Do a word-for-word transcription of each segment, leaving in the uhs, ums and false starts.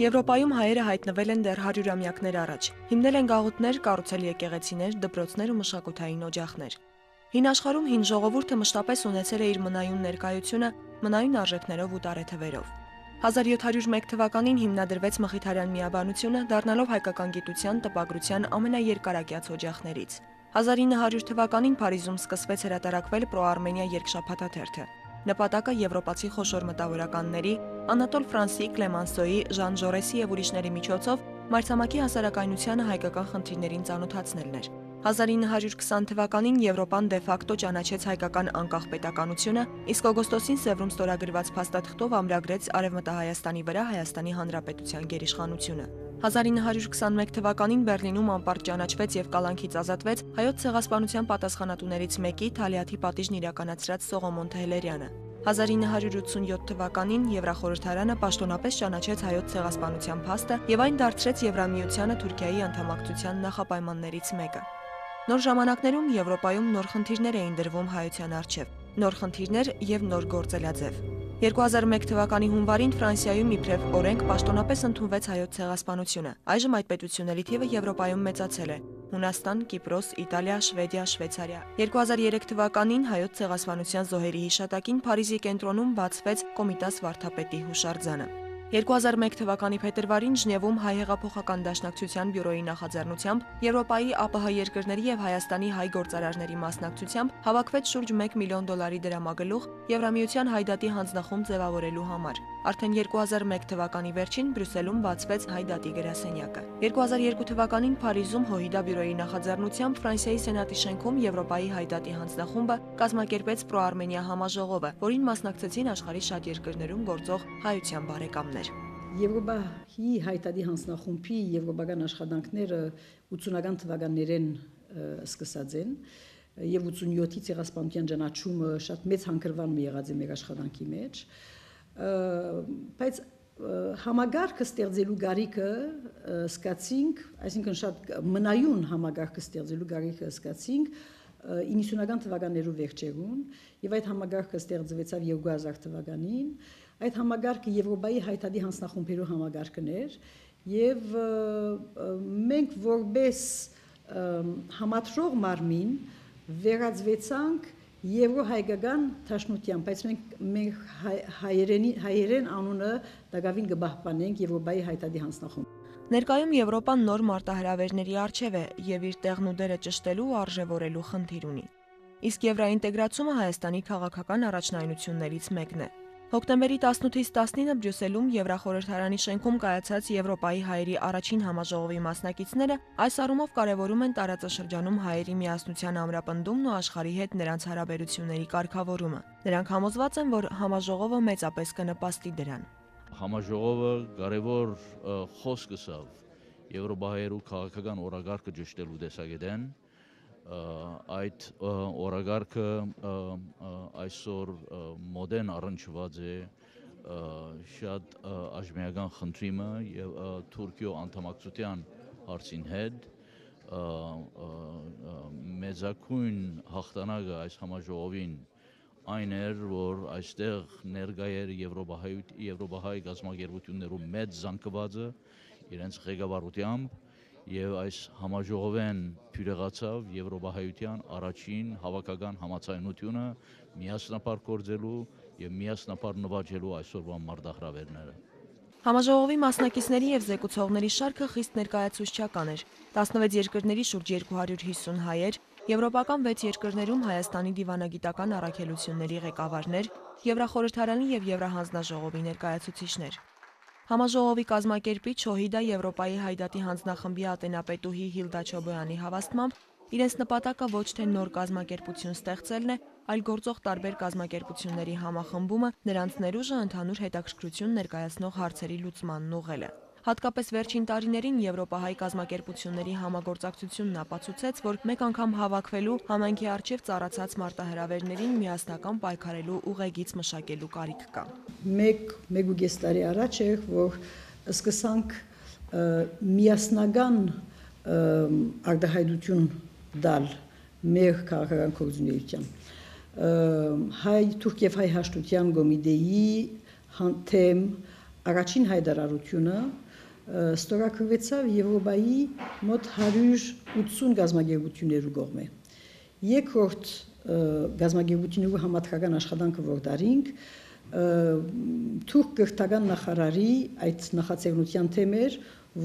Եվրոպայում հայերը հայտնվել են դեռ հարյուրամյակներ առաջ, հիմնել են գաղութներ, կառուցել եկեղեցիներ, դպրոցներ ու մշակութային օջախներ։ Հին աշխարհում հին ժողովուրդը մշտապես ունեցել է իր մնայուն ներկայությունը, մնայուն արժեքներով ու տարեթվերով։ հազար յոթ հարյուր մեկ թվականին հիմնադրվեց Մխիթարյան միաբանությունը, դառնալով հայկական գիտության, տպագրության ամենաերկարակյաց օջախներից։ հազար ինը հարյուր թվականին Փարիզում սկսվեց հրատարակվել Պրո-Արմենիա երկշաբաթաթերթը։ Նպատակը եվրոպացի խոշոր մտավորականների Անատոլ Ֆրանսի, Կլեմանսոյի, Ժան Ժորեսի եւ ուրիշների միջոցով մայրցամաքի հասարակայնությանը հայկական խնդիրներին ծանոթացնելն էր։ հազար ինը հարյուր քսան թվականին Եվրոպան դե ֆակտո ճանաչեց հայկական անկախ պետականությունը, իսկ օգոստոսին Սևրում ստորագրված փաստաթղթով ամրագրեց Արևմտահայաստանի վրա Հայաստանի Հանրապետության գերիշխանությունը։ հազար ինը հարյուր քսանմեկ թվականին Բեռլինում անպարտ ճանաչվեց եւ կալանքից ազատվեց հայոց ցեղասպանության պատասխանատուներից մեկի Թալիաթի պատիժն իրականացրած Սողոմոն Թեհլերյանը։ հազար ինը հարյուր ութսունյոթ թվականին Եվրախորհրդարանը պաշտոնապես ճանաչեց հայոց ցեղասպանության փաստը եւ այն դարձրեց Եվրամիությանը Թուրքիայի անդամակցության նախապայմաններից մեկը։ Նոր ժամանակներում Եվրոպայում նոր խնդիրներ էին դրվում հայության առջև, նոր խնդիրներ եւ նոր գործելաձև։ երկու հազար մեկ թվականի հունվարին Ֆրանսիայում իբրև օրենք պաշտոնապես ընդունվեց հայոց ցեղասպանությունը։ Այժմ այդ պետությունների թիվը Եվրոպայում մեծացել է։ Հունաստան, Կիպրոս, Իտալիա, Շվեդիա, Շվեյցարիա։ երկու հազար երեք թվականին հայոց ցեղասպանության զոհերի հիշատակին Փարիզի կենտրոնում բացվեց Կոմիտաս վարդապետի հուշարձանը։ երկու հազար մեկ թվականի փետրվարին Ժնևում հայ հեղափոխական դաշնակցության բյուրոյի նախաձեռնությամբ Եվրոպայի ԱՊՀ երկրների եւ Հայաստանի հայ գործարարների մասնակցությամբ հավաքվեց շուրջ մեկ միլիոն դոլարի դրամագլուխ Եվրամիության հայդատի հանձնախումբ ձևավորելու համար։ Արդեն երկու հազար մեկ թվականի վերջին Բրյուսելում բացվեց հայդատի գրասենյակը։ երկու հազար երկու թվականին Փարիզում ՀՅԴ բյուրոյի նախաձեռնությամբ Ֆրանսիայի Սենատի շենքում Եվրոպայի հայդատի հանձնախումբը կազմակերպեց Պրո-Արմենիա համաժողովը, որին մասնակցեցին աշխարհի շատ երկրներում գործող հայության բարեկամներ։ Եվրոպայի հայդատի հանձնախումբի եվրոպական աշխատանքները ութսունական թվականներին սկսած են եւ ութսունյոթի ցեղասպանության ճանաչումը շատ մեծ հանգրվան մի եղած է մեր աշխատանքի մեջ, բայց համագարկը ստեղծելու գարիքը սկացինք, այսինքն շատ մնայուն համագարկը ստեղծելու գարիքը սկացինք իննսունական թվականներու վերջերուն եւ այդ համագարկը ստեղծվեցավ երկու հազար թվականին։ Այդ համագարկը Եվրոպայի հայդատի հանձնախումբերու համագարկն էր եւ մենք որպես համատրող մարմին վերածվեցանք Եվրոհայկական դաշնության, բայց մենք մեր հայերենի հայերեն անունը դակավին կպահպանենք Եվրոպայի հայդատի հանձնախումբ։ Ներկայում Եվրոպան նոր մարտահրավերների առջև է եւ իր տեղն ու դերը ճշտելու ու արժեվորելու խնդիր ունի։ Իսկ եվրաինտեգրացումը Հայաստանի քաղաքական առաջնայնություններից մեկն է։ Հոկտեմբերի տասնութից տասնինը Բրյուսելում Եվրախորհրդարանի շենքում կայացած Եվրոպայի հայերի առաջին համաժողովի մասնակիցները այս առումով կարևորում են տարածաշրջանում հայերի միասնության ամրապնդումն ու աշխարհի հետ նրանց հարաբերությունների կարգավորումը։ Նրանք համոզված են, որ համաժողովը մեծապես կնպաստի դրան։ Համաժողովը կարևոր խոսք ասավ Եվրոպայերու քաղաքական օրագարկը ճշտելու տեսակետեն։ Այդ օրագարկը այսօր մոդեն առնչված է շատ աժմիական խնդրիմը եւ Թուրքիո անդամակցության հարցին հետ մեծակույն հաղթանակը այս համաժողովին այն էր, որ այստեղ ներկայ էր Եվրոպահայ գազམ་ագերբություններու մեծ զանգվածը իրենց ղեկավարությամբ եւ այս համաժողովեն փյուրեղացավ Եվրոպահայության առաջին հավաքական համացայնությունը միասնապար գործելու եւ միասնապար նվաճելու այսօրվա մարտահրավերները։ Համաժողովի մասնակիցների եւ զեկուցողների շարքը խիստ ներկայացուցչական էր։ տասնվեց երկրների շուրջ երկու հարյուր հիսուն հայեր, եվրոպական վեց երկրներում Հայաստանի դիվանագիտական առաքելությունների ղեկավարներ, Եվրախորհրդարանի եւ Եվրահանձնաժողովի ներկայացուցիչներ։ Համաժողովի կազմակերպիչ ՀՅԴ Եվրոպայի հայդատի հանձնախմբի ատենապետուհի Հիլդա Չոբոյանի հավաստմամբ իրենց նպատակը ոչ թե նոր կազմակերպություն ստեղծելն է, այլ գործող տարբեր կազմակերպությունների համախմբումը, նրանց ներուժը ընդհանուր հետաքրքրություն ներկայացնող հարցերի լուծմանն ուղղելը։ Հատկապես վերջին տարիներին Եվրոպահայ կազմակերպությունների համագործակցությունն ապացուցեց, որ մեկ անգամ հավաքվելու համայնքի առջև ծառացած մարտահրավերներին միասնական պայքարելու ուղեգիծ մշակելու կարիք կա։ Մեկ մեկ տարի առաջ էր, որ սկսանք միասնական արտահայտություն դալ մեր քաղաքական գործունեության։ Հայ թուրք եւ հայ հաշտության կոմիտեի թեմ առաջին հայտարարությունը ստորագրվեցավ Եվրոպայի մոտ հարյուր ութսուն գազագերբություններու կողմէ։ Երկրորդ գազագերբություններու համաշխարհական աշխատանքը որ դարինք թուրք կրթական նախարարի այդ նախաձեռնության թեմեր,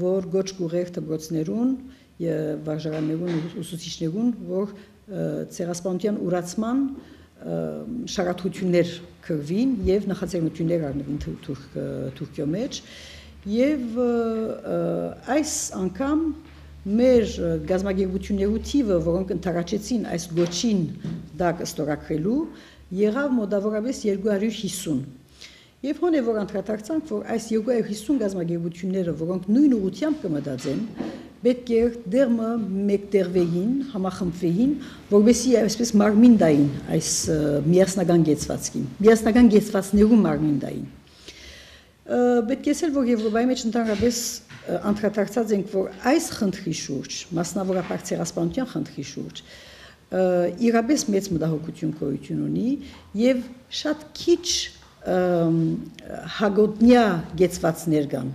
որ գոչ կուղեր դպրոցներուն եւ վարժարաններուն ուսուցիչներուն, որ ցեղասպանության ուրացման շարադրություններ կրվին եւ նախաձեռնություններ առնվին Թուրքիո մեջ եւ այս անգամ մեր գազագերբություններու թիվը, որոնք ընդառաջեցին այս գոչին դակ ստորագրելու, եղավ մոտավորապես երկու հարյուր հիսուն։ Եվ հոն է որ անդրադարձանք, որ այս երկու հարյուր հիսուն գազագերբությունները, որոնք նույն ուղղությամբ կմտածեն, պետք է դերմը մեկտեղվեին, համախմբվեին, որովհետեւ այսպես մարմին դային այս միասնական գեցվածքին, միասնական գեցվածքներու մարմին դային։ Պետք է ասել, որ Եվրոպայի մեջ ընդհանրապես անդրադարձած ենք, որ այս խնդրի շուրջ, մասնավորապես ցեղասպանության խնդրի շուրջ, իրապես մեծ մտահոգություն գոյություն ունի եւ շատ քիչ հագոտնյա գեցվածքներ կան,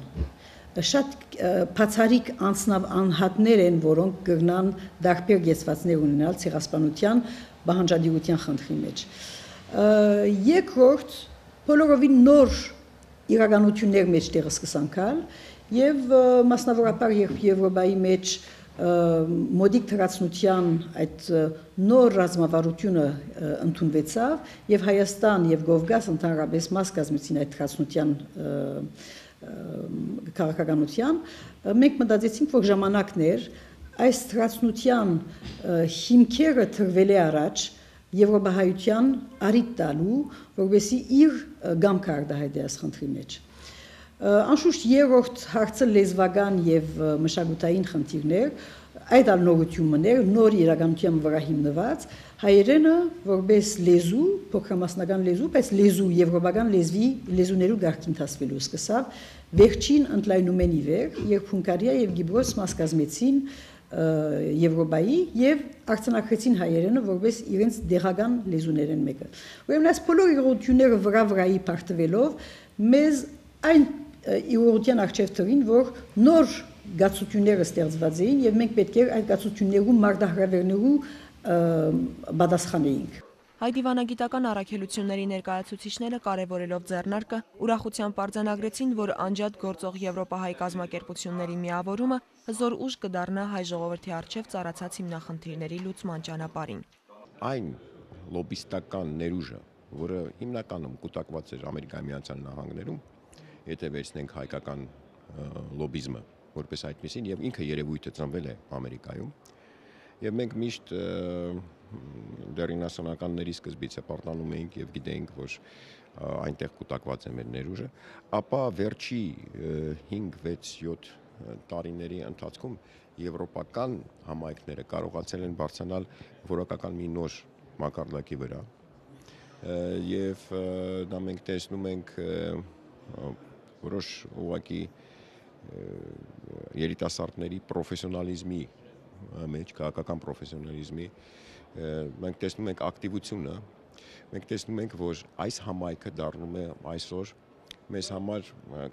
շատ բացառիկ անձնավ անհատներ են, որոնք կգնան դարբեր գեցվածքներ ունենալ ցեղասպանության բանջարդիրության խնդրի մեջ։ Երկրորդ, բոլորովին նոր իրականություններ մեջտեղը սկսանքալ եւ մասնավորապես երբ Եվրոպայի մեջ մոդիկ թրացնության այդ նոր ռազմավարությունը ընդունվեցավ եւ Հայաստան եւ Կովկաս ընդհանրապես մաս կազմեցին այդ թրացնության քաղաքականության, մենք մտածեցինք, որ ժամանակն էր այս թրացնության հիմքերը թրվել է առաջ Եվրոպահայության արիտ տալու, որովհետեւ իր գամքը արտահայտի այս խնդրի մեջ։ Անշուշտ երրորդ հարցը լեզվական եւ մշակութային խնդիրներ, այդ ալնորություններ, նոր իրականության վրա հիմնված, հայերենը որպես լեզու, փոքրամասնական լեզու, բայց լեզու եվրոպական լեզվի լեզուներու գաղտնի հասվելու սկսավ վերջին ընդլայնումեն ի վեր, երբ Հունգարիա եւ Կիպրոս մաս կազմեցին Եվրոպայի եւ արձանագրեցին հայերենը որպես իրենց դեղական լեզուներեն մեկը։ Ուրեմն այս բոլոր իրողությունները վրա-վրայի պարտվելով մեզ այն իրողության արժև թվին, որ նոր գացությունները ստեղծված էին եւ մենք պետք է այդ գացություններու մարտահրավերներու պատասխանեինք։ Հայ դիվանագիտական առաքելությունների ներկայացուցիչները կարևորելով ձեռնարկը ուրախությամբ արձանագրեցին, որ անջատ գործող Եվրոպահայ կազմակերպությունների միավորումը հզոր ուժ կդառնա հայ ժողովրդի առջև ծառացած հիմնախնդիրների լուծման ճանապարհին։ Այն լոբիստական ներուժը, որը հիմնականում կուտակված էր Ամերիկայի Միացյալ Նահանգներում, եթե վերցնենք հայկական լոբիզմը որպես այդպեսին եւ ինքը երևույթը ծնվել է Ամերիկայում, եւ մենք միշտ դերինասոնականների սկզբից է պարտանում էինք եւ գիտեինք, որ այնտեղ կուտակված է մեր ներուժը, ապա վերջի հինգ, վեց, յոթ տարիների ընթացքում եվրոպական համայնքները կարողացել են բարձրանալ որակական մի նոր մակարդակի վրա եւ դա մենք տեսնում ենք որոշ ուղղակի երիտասարդների պրոֆեսիոնալիզմի մեջ, քաղաքական պրոֆեսիոնալիզմի մենք տեսնում ենք ակտիվությունը, մենք տեսնում ենք, որ այս համայնքը դառնում է այսօր մեզ համար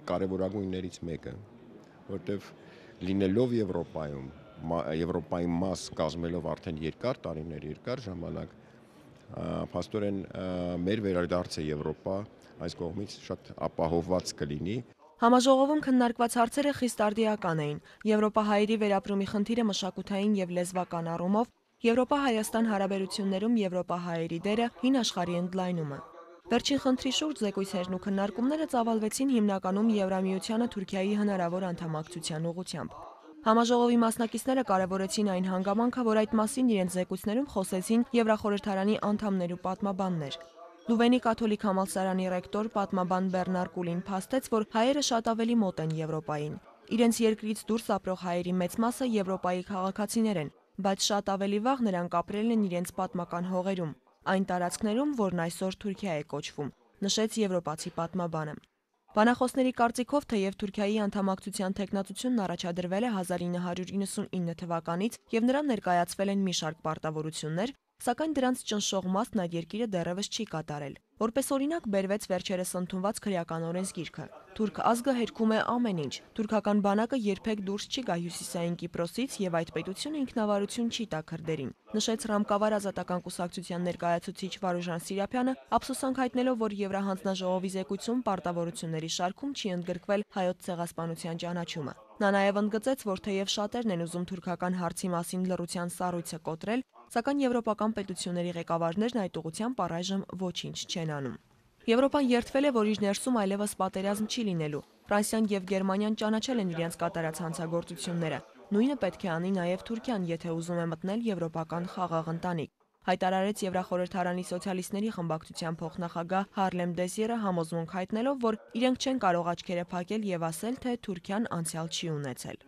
կարևորագույններից մեկը, որտեղ լինելով Եվրոպայում, Եվրոպայի մաս կազմելով արդեն երկար տարիներ, երկար ժամանակ, փաստորեն մեր վերադարձը Եվրոպա այս կողմից շատ ապահովված կլինի։ Համաժողովում քննարկված հարցերը խիստ արդիական էին։ Եվրոպահայերի վերապրումի խնդիրը մշակութային եւ լեզվական առումով, Եվրոպա-Հայաստան հարաբերություններում եվրոպահայերի դերը, հին աշխարհի ընդլայնումը։ Վերջին խնդրի շուրջ զեկույցներն ու քննարկումները ծավալվեցին հիմնականում Եվրամիությանը Թուրքիայի հնարավոր անդամակցության ուղղությամբ։ Համաժողովի մասնակիցները կարևորեցին այն հանգամանքը, որ այդ մասին իրենց զեկույցներում խոսեցին Եվրախորհրդարանի անդամներ ու պատմաբաններ։ Լուվենի կաթոլիկ համալսարանի ռեկտոր պատմաբան Բեռնար Կուլին փաստեց, որ հայերը շատ ավելի մոտ են Եվրոպային։ Իրենց երկրից դուրս ապրող հայերի մեծ մասը Եվրոպայի քաղաքացիներ են, բայց շատ ավելի վաղ նրանք ապրել են իրենց պատմական հողերում, այն տարածքներում, որն այսօր Թուրքիա է կոչվում, նշեց եվրոպացի պատմաբանը։ Բանախոսների կարծիքով, թեև Թուրքիայի անդամակցության թեկնածությունն առաջադրվել է հազար ինը հարյուր իննսունինը թվականից եւ նրան ներկայացվել են մի շարք պարտավորություններ, սակայն դրանց ճնշող մասն այդ երկիրը դեռևս չի կատարել։ Որպես օրինակ բերվեց վերջերս ընդունված քրեական օրենսգիրքը։ Թուրք ազգը հերքում է ամեն ինչ։ Թուրքական բանակը երբեք դուրս չի գա հյուսիսային Կիպրոսից եւ այդ պետությունը ինքնավարություն չի տա քրդերին, նշեց Ռամկավար ազատական կուսակցության ներկայացուցիչ Վարուժան Սիրափյանը, ափսոսանք հայտնելով, որ Եվրահանձնաժողովի զեկույցում պարտավորությունների շարքում չի ընդգրկվել հայոց ցեղասպանության ճանաչումը։ Նա նաև ընդգծեց, որ թեև շատերն են ուզում թուրքական հարցի մասին լռության սառույցը կոտրել, սակայն եվրոպական պետությունների ղեկավարներն այդ ուղղությամբ առայժմ ոչինչ չեն անում։ Եվրոպան երդվել է, որ իր ներսում այլևս պատերազմ չի լինելու։ Ֆրանսիան եւ Գերմանիան ճանաչել են իրենց կատարած հանցագործությունները։ Նույնը պետք է անի նաև Թուրքիան, եթե ուզում է մտնել եվրոպական խաղաղ ընտանիք, հայտարարեց Եվրախորհրդարանի սոցիալիստների խմբակցության փոխնախագահ Հարլեմ Դեզիերը, համոզմունք հայտնելով, որ իրենք չեն կարող աչքերը փակել եւ ասել, թե Թուրքիան անցյալ չի ունեցել։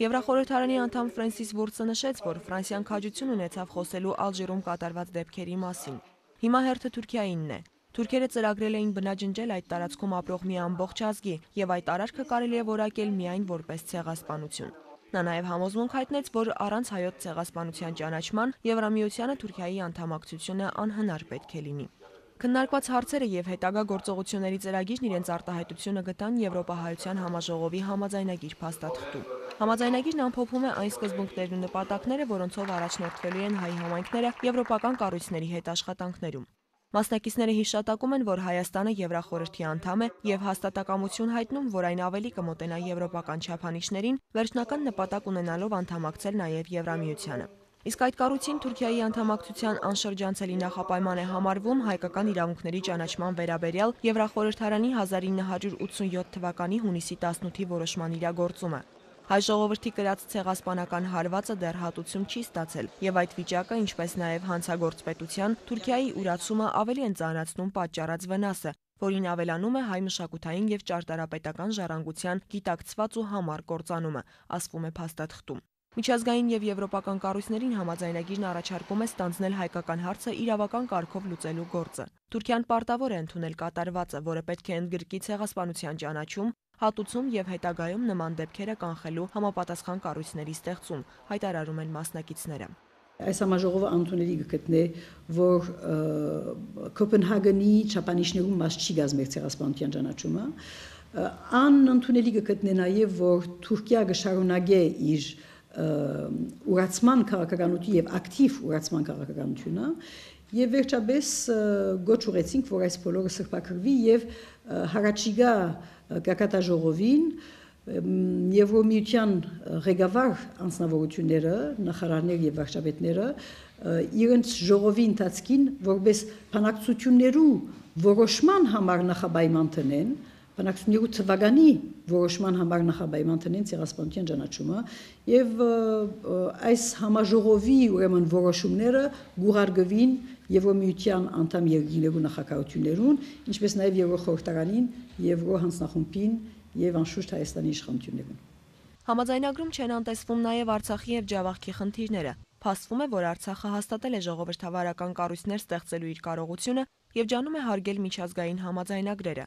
Եվրախորհրդարանի անդամ Ֆրենսիս Վուրցը նշեց, որ Ֆրանսիան քաջություն ունեցավ խոսելու Ալժիրում կատարված դեպքերի մասին։ Հիմա հերթը Թուրքիայինն է։ Թուրքերը ծրագրել էին բնաջնջել այդ տարածքում ապրող մի ամբողջ ազգի, եւ այդ արարքը կարելի է որակել միայն որպես ցեղասպանություն։ Նա նաև համոզմունք հայտնեց, որ առանց հայոց ցեղասպանության ճանաչման Եվրամիությանը Թուրքիայի անդամակցությունը անհնար պետք է լինի։ Քննարկված հարցերը եւ հետագա գործողությունների ծրագիրն իրենց արտահայտությունը գտան Եվրոպահայության համաժողովի համաձայնագիր փաստաթղթում։ Համաձայնագիրն ամփոփում է այն սկզբունքներն ու նպատակները, որոնցով առաջնորդվելու են հայ համայնքները եվրոպական կառույցների հետ աշխատանքներում։ Մասնակիցները հիշատակում են, որ Հայաստանը Եվրախորհրդի անդամ է եւ հաստատակամություն հայտնում, որ այն ավելի կմոտենա եվրոպական չափանիշներին, վերջնական նպատակ ունենալով անդամակցել նաեւ Եվրամիությանը։ Իսկ այդ կառույցին Թուրքիայի անդամակցության անշրջանցելի նախապայման է համարվում հայկական իրավունքների ճանաչման վերաբերյալ Եվրախորհրդարանի հազար ինը հարյուր ութսունյոթ թվականի հունիսի տասնութի որոշման իրագործումը։ Հայ ժողովրդի կրած ցեղասպանական հարվածը դեռ հատուցում չի ստացել, եւ այդ վիճակը, ինչպես նաեւ հանցագործ պետության Թուրքիայի ուրացումը ավելի են ծանրացնում պատճառած վնասը, որին ավելանում է հայ մշակութային եւ ճարտարապետական ժառանգության գիտակցված ու համառ կործանումը, ասվում է փաստաթղթում։ Միջազգային եւ եվրոպական կառույցներին համաձայնագիրն առաջարկում է ստանձնել հայկական հարցը իրավական կարգով լուծելու գործը։ Թուրքիան պարտավոր է ընդունել կատարվածը, որը պետք է ընդգրկի ցեղասպանության ճանաչում, հատուցում եւ հետագայում նման դեպքերը կանխելու համապատասխան կառույցների ստեղծում, հայտարարում են մասնակիցները։ Այս համաժողովը անընդունելի կգտնե, որ Կոպենհագենի չափանիշներում մաս չի գազմեր ցեղասպանության ճանաչումը, անընդունելի կգտնե նաեւ, որ Թուրքիա կշարունակի իր ուրացման քաղաքականություն եւ ակտիվ ուրացման քաղաքականությունը եւ վերջապես գոչ ուղեցինք, որ այս բոլորը սրբակրվի եւ հարաճիգա գագաթաժողովին Եվրոմիության ղեկավար անձնավորությունները, նախարարներ եւ վարչապետները իրենց ժողովի ընթացքին որպես բանակցություններու որոշման համար նախապայման տնեն, բանակցություններու թվականի որոշման համար նախապայման տնեն ցեղասպանության ճանաչումը եւ այս համաժողովի ուրեմն որոշումները գուղարկվին Եվրոմիության անդամ երկրներու նախագահություններուն, ինչպես նաեւ Եվրոխորհրդարանին, Եվրոհանձնախումբին եւ անշուշտ Հայաստանի իշխանություններուն։ Համաձայնագրում չեն անտեսվում նաեւ Արցախի եւ Ջավախքի խնդիրները։ Փաստվում է, որ Արցախը հաստատել է ժողովրդավարական կառույցներ ստեղծելու իր կարողությունը եւ ջանում է հարգել միջազգային համաձայնագրերը։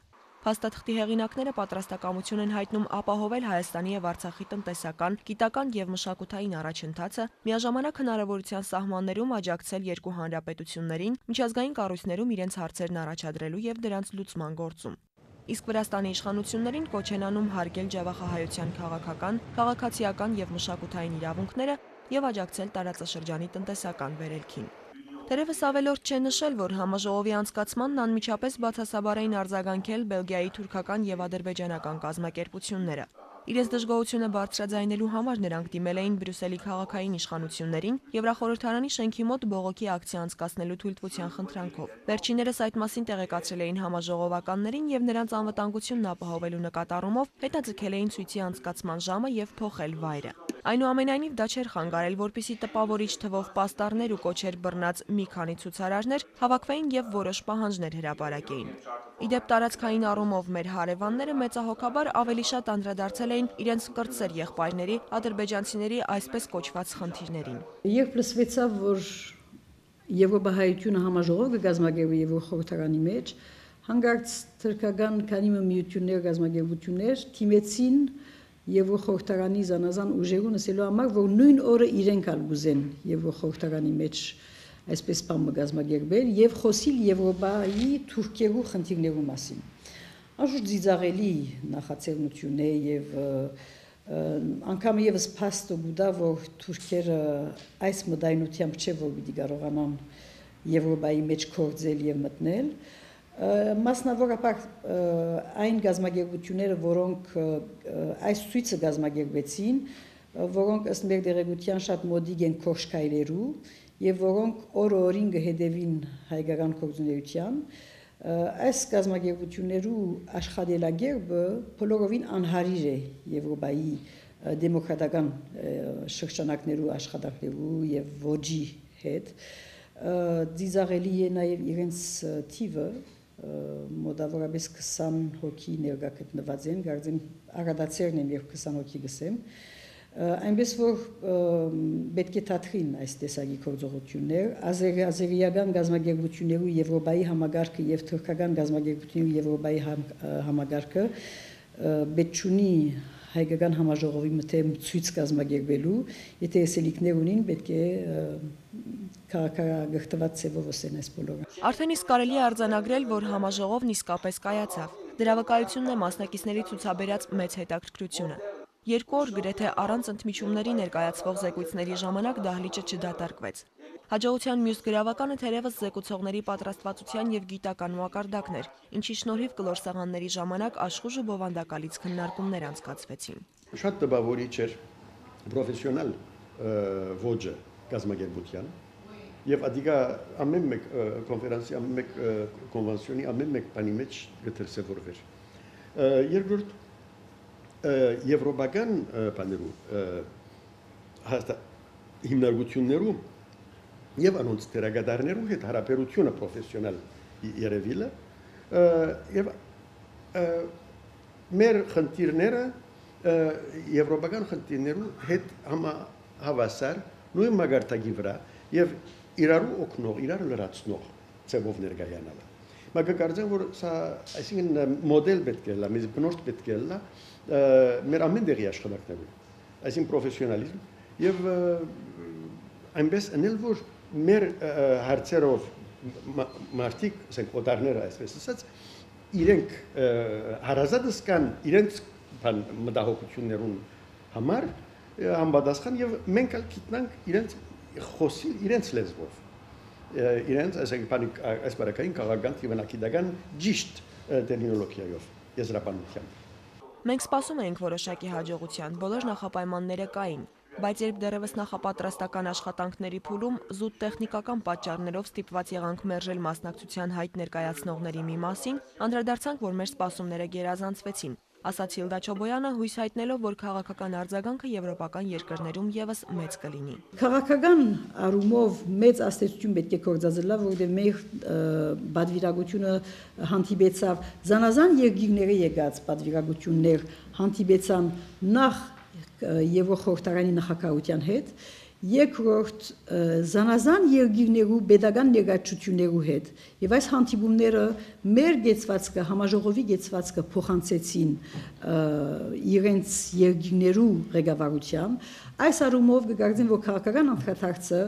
Փաստաթղթի հեղինակները պատրաստակամություն են հայտնում ապահովել Հայաստանի եւ Արցախի տնտեսական, գիտական եւ մշակութային առաջընթացը, միաժամանակ հնարավորության սահմաններում աջակցել երկու հանրապետություններին, միջազգային կառույցներում իրենց հարցերն առաջադրելու եւ դրանց լուծման գործում։ Իսկ Վրաստանի իշխանություններին կոչ են անում հարգել ջավախահայության քաղաքական, քաղաքացիական եւ մշակութային իրավունքները եւ աջակցել տարածաշրջանի տնտեսական վերելքին։ Թերևս ավելորդ չէ նշել, որ համաժողովի անցկացմանն անմիջապես բացասաբար էին արձագանքել Բելգիայի թուրքական եւ ադրբեջանական կազմակերպությունները։ Իրենց դժգոհությունը բարձրաձայնելու համար նրանք դիմել էին Բրյուսելի քաղաքային իշխանություններին Եվրախորհրդարանի շենքի մոտ բողոքի ակցիա անցկացնելու թույլտվության խնդրանքով։ Վերջիններս այդ մասին տեղեկացրել էին համաժողովականներին եւ նրանց անվտանգությունն ապահովելու նկատառումով հետաձգել էին ցույցի անցկացման ժամը եւ փոխել վայրը։ Այնուամենայնիվ դա չէր խանգարել, որպիսի տպավորիչ թվով պաստառներ ու կոչեր բռնած մի քանի ցուցարարներ հավաքվեին եւ որոշ պահանջներ հրապարակեին։ Իդեպ տարածքային առումով մեր հարևանները մեծահոգաբար ավելի շատ անդրադարձել էին իրենց կրտսեր եղբայրների, ադրբեջանցիների այսպես կոչված խնդիրներին։ Երբ լսվեցավ, որ Եվրոպահայությունը համաժողով կգազմագերվի Եվրոխորհրդարանի մեջ, հանկարծ թուրքական քանի միություններ գազմագերբություններ թիմեցին Եվրոխորհրդարանի զանազան ուժերուն ասելու համար, որ նույն օրը իրենք ալ գուզեն Եվրոխորհրդարանի մեջ այսպես բան գազմագերբել եւ խոսիլ Եվրոպայի Թուրքիայու խնդիրներու մասին։ Անշուշտ ծիծաղելի նախաձեռնություն է եւ անգամ եւս փաստը գուտա, որ թուրքերը այս մտայնությամբ չէ որ պիտի կարողանան Եվրոպայի մեջ կորձել եւ մտնել։ Մասնավորապես այն գազագերբությունները, որոնք այս ցույցը գազագերբեցին, որոնք ըստ մեր դերեկության շատ մոդիկ են կոշկայլերու եւ որոնք օր-օրին կհետևին հայկական գործունեության, այս գազագերբություններու աշխատելագերբը բոլորովին անհարիր է Եվրոպայի դեմոկրատական շրջանակներու աշխատանքներու եւ ոճի հետ։ Ծիծաղելի է նաեւ իրենց թիվը, մոտավորապես քսան հոգի ներկա գտնված են, գարձեմ աղադացերն եմ երբ քսան հոգի գսեմ, այնպես որ պետք է թատրին այս տեսակի գործողություններ, ազերիական գազագերբություններու Եվրոպայի համագարկը եւ թուրքական գազագերբություններու Եվրոպայի համագարկը պետք չունի հայկական համաժողովի մտեմ ցույց գազագերբելու, եթե էսելիքներ ունին, պետք է քաղաքագործված ծևով ասեն այս բոլորը։ Արդեն իսկ կարելի է արձանագրել, որ համաժողովն իսկապես կայացավ։ Դրա վկայությունն է մասնակիցների ցուցաբերած մեծ հետաքրքրությունը։ Երկու օր գրեթե առանց ընդմիջումների ներկայացվող զեկույցների ժամանակ դահլիճը չդատարկվեց։ Հաջողության մյուս գրավականը թերևս զեկուցողների պատրաստվածության եւ գիտական մակարդակն էր, ինչի շնորհիվ կլոր սեղանների ժամանակ աշխուժ ու բովանդակալից քննարկումներ անցկացվեցին։ Շատ տպավորիչ էր պրոֆեսիոնալ ոճը գազագերբության եւ ադիգա ամեն մեկ կոնֆերանսի, ամեն մեկ կոնվենցիոնի, ամեն մեկ բանի մեջ գտրսեվորվեր։ Երկրորդ Եվրոպական բաներու հիմնարկություններու եւ անոնց դերակատարներու հետ հարաբերությունը պրոֆեսիոնալ երևիլը եւ մեր խնդիրները եվրոպական խնդիրներու հետ համահավասար նույն մագարտակի վրա եւ իրարու օգնող, իրար լրացնող ծավով ներկայանալը։ Մագարտակը որ սա այսինքն մոդել պետք է լա, մեզ բնորդ պետք է լա մեր ամեն դեղի աշխատանքներում, այսինքն պրոֆեսիոնալիզմ եւ այնպես անել որ մեր հարցերով մարդիկ, ասենք օտարները այսպես ասած, իրենք հարազատս կան իրենց բան մտահոգություններուն համար համապատասխան եւ մենք ալ գիտնանք իրենց խոսիլ իրենց լեզվով իրենց ասենք բանի այս բարակային քաղաքական թիվանակիդական ճիշտ տերմինոլոգիայով եզրափակությամբ։ Մենք սպասում էինք որոշակի հաջողության, բոլոր նախապայմանները կային, բայց երբ դեռևս նախապատրաստական աշխատանքների փուլում զուտ տեխնիկական պատճառներով ստիպված եղանք մերժել մասնակցության հայտ ներկայացնողների մի մասին, անդրադարձանք, որ մեր սպասումները գերազանցվեցին, ասաց Հիլդա Չոբոյանը, հույս հայտնելով, որ քաղաքական արձագանքը եվրոպական երկրներում եւս մեծ կլինի։ Քաղաքական առումով մեծ աստեցություն պետք է կործածելա, որովհետեւ մեր բادվիրագությունը հանդիպեցավ զանազան երկիրների եկած բادվիրագություններ հանդիպեցան նախ Եվրոխորհրդարանի նախագահության հետ, երկրորդ զանազան երկիրներու pedagogan ներկայացություններու հետ եւ այս հանդիպումները մեր գեցվածքը համաժողովի գեցվածքը փոխանցեցին իրենց երկիրներու ղեկավարությամբ այս առումով կգարձեն որ քաղաքական անդրադարձը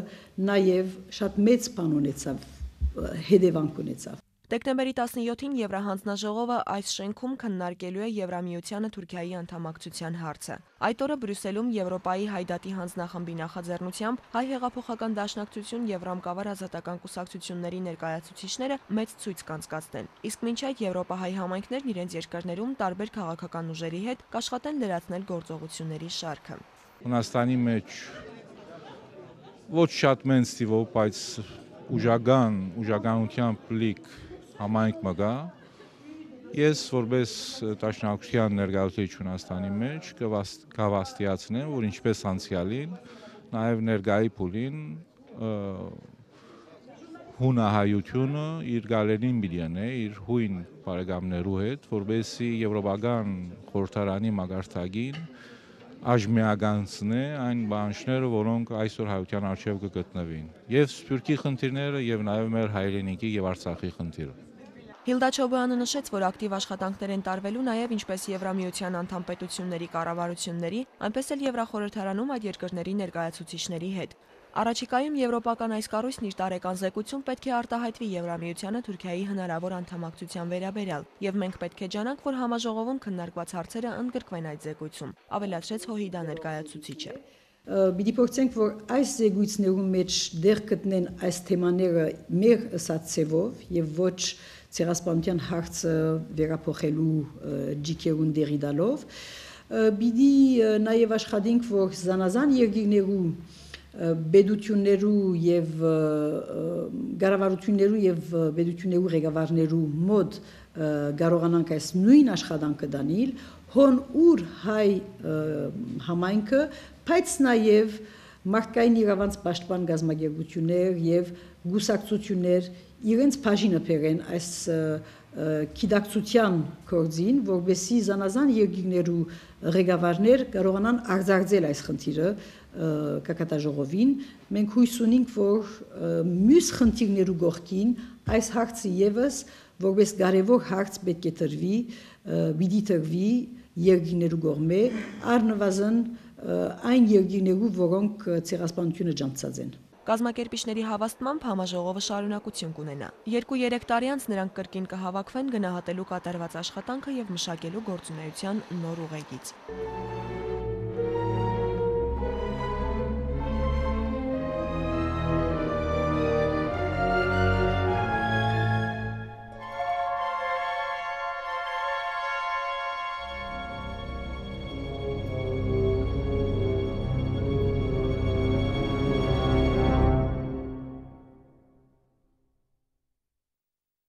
նաեւ շատ մեծ բան ունեցավ հետևանք ունեցավ Դեկտեմբերի տասնյոթին Եվրահանձնաժողովը այս շենքում քննարկելու է Եվրամիությանը Թուրքիայի անդամակցության հարցը։ Այդ օրը Բրյուսելում Եվրոպայի հայդատի հանձնախմբի նախաձեռնությամբ հայ հեղափոխական դաշնակցություն եւ ռամկավար ազատական կուսակցությունների ներկայացուցիչները մեծ ցույց կանցկացնեն։ Իսկ մինչ այդ Եվրոպահայ համայնքներն իրենց երկրներում տարբեր քաղաքական ուժերի հետ կաշխատեն լրացնել գործողությունների շարքը։ Հունաստանի մեջ ոչ շատ մեծ թիվով, բայց ուժական, ուժականությամբ լիք համայնք մգա, ես որպես տաշնակության ներկայացուցիչ Հունաստանի մեջ կհավաստիացնեմ, որ ինչպես անցյալին, նաև ներկայի փուլին հունահայությունը իր գալերին բիդյանե, իր հույն բարեկամներու հետ, որպեսզի եվրոպական խորհրդարանի մագարտագին աժմիականցնե այն բանջները, որոնք այսօր հայության արժև կգտնվին, եւ Սփյուռքի խնդիրները եւ նաեւ մեր հայրենիքի եւ Արցախի խնդիրը։ Հիլդա Չոբյանը նշեց, որ ակտիվ աշխատանքներ են տարվելու նաև ինչպես Եվրամիության անդամ պետությունների կառավարությունների, այնպես էլ Եվրախորհրդարանում այդ երկրների ներկայացուցիչների հետ։ Առաջիկայում եվրոպական այս կառույցն իր տարեկան զեկույցում պետք է արտահայտվի Եվրամիությանը Թուրքիայի հնարավոր անդամակցության վերաբերյալ, եւ մենք պետք է ջանանք, որ համաժողովում քննարկված հարցերը ընդգրկվեն այդ զեկույցում, ավելացրեց ՀՅԴ ներկայացուցիչը։ Պիտի փորձենք, որ այս զեկույցներում մեջ դեր գտնեն այս թեմաները մեր ըսած ցևով եւ ոչ ցեղասպանության հարցը վերափոխելու ջիքերուն դերի դալով։ Պիտի նաեւ աշխատենք, որ զանազան երկիրներու բեդություններու եւ գարավարություններու եւ բեդություններու ղեկավարներու մոտ կարողանանք այս նույն աշխատանքը դանել, հոն ուր հայ համայնքը, բայց նաեւ մարդկային իրավանց պաշտպան գազագերբություններ եւ գուսակցություններ իրենց բաժինը բերեն այս գիտակցության կորձին, որովհետեւ զանազան երկիրներու ղեկավարներ կարողանան արձագանքել այս խնդիրը կակատաժողովին, մենք հույս ունենք, որ մյուս խնդիրներու գողքին այս հարցը եւս որպես կարևոր հարց պետք է տրվի, պիտի տրվի երկիրներու կողմէ, առնվազն այն երկիրներու, որոնք ցեղասպանությունը ջանցած են։ Կազմակերպիչների հավաստմամբ համաժողովը շարունակություն կունենա։ Երկու-երեք տարի անց նրանք կրկին կհավաքվեն գնահատելու կատարված աշխատանքը եւ մշակելու գործունեության նոր ուղեգիծ։